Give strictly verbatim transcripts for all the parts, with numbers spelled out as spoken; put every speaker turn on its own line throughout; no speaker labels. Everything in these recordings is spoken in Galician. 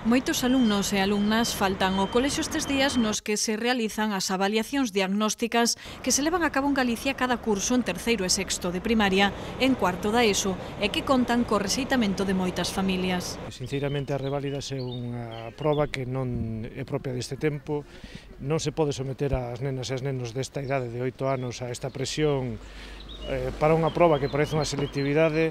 Moitos alumnos e alumnas faltan ao colexio estes días nos que se realizan as avaliacións diagnósticas que se levan a cabo en Galicia cada curso en terceiro e sexto de primaria, en cuarto da ESO, e que contan co rexeitamento de moitas familias.
Sinceramente, a reválidas é unha proba que non é propia deste tempo. Non se pode someter ás nenas e as nenos desta idade de oito anos a esta presión eh, para unha proba que parece unha selectividade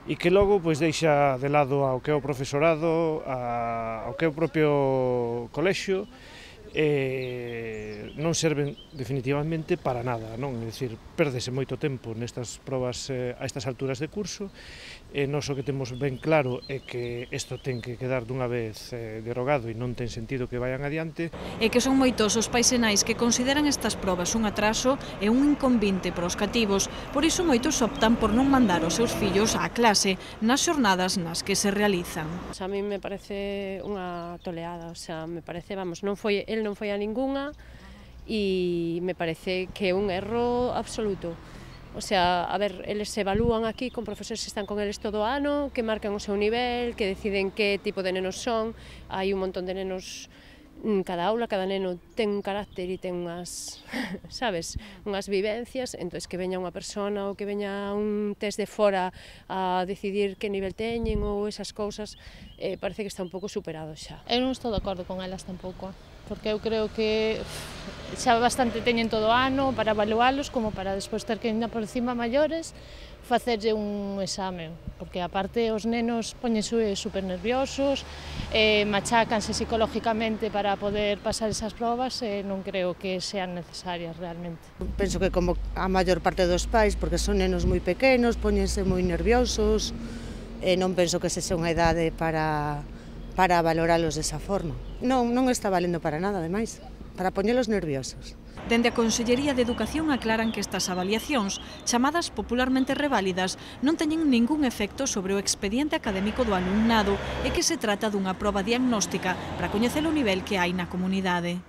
e que logo pois deixa de lado ao que é o profesorado, a, ao que é o propio colexio, e non serven definitivamente para nada, non? É dicir, pérdese moito tempo nestas probas eh, a estas alturas de curso, e nós o que temos ben claro é que isto ten que quedar dunha vez eh, derogado e non ten sentido que vayan adiante.
E que son moitos os pais e nais que consideran estas probas un atraso e un inconvinte para os cativos, por iso moitos optan por non mandar os seus fillos á clase nas xornadas nas que se realizan.
A mí me parece unha toleada, o sea, me parece, vamos, non foi, el non foi a ningunha e me parece que é un erro absoluto. O sea, a ver, eles se evalúan aquí con profesores que están con eles todo o ano, que marcan o seu nivel, que deciden que tipo de nenos son. Hai un montón de nenos, cada aula, cada neno ten un carácter e ten unhas, sabes, unhas vivencias, entón que veña unha persona ou que veña un test de fora a decidir que nivel teñen ou esas cousas, eh, parece que está un pouco superado xa.
Eu non estou de acordo con elas tampouco, porque eu creo que xa bastante teñen todo o ano para evalualos como para despois ter que ir por encima maiores facerlle un exame, porque aparte os nenos póñense super nerviosos, eh, machácanse psicológicamente para poder pasar esas probas e non creo que sean necesarias realmente.
Penso que como a maior parte dos pais, porque son nenos moi pequenos, póñense moi nerviosos, e non penso que se xa unha idade para, para valoralos desa forma. Non, non está valendo para nada, ademais, para poñelos nerviosos.
Dende a Consellería de Educación aclaran que estas avaliacións, chamadas popularmente reválidas, non teñen ningún efecto sobre o expediente académico do alumnado e que se trata dunha proba diagnóstica para coñecer o nivel que hai na comunidade.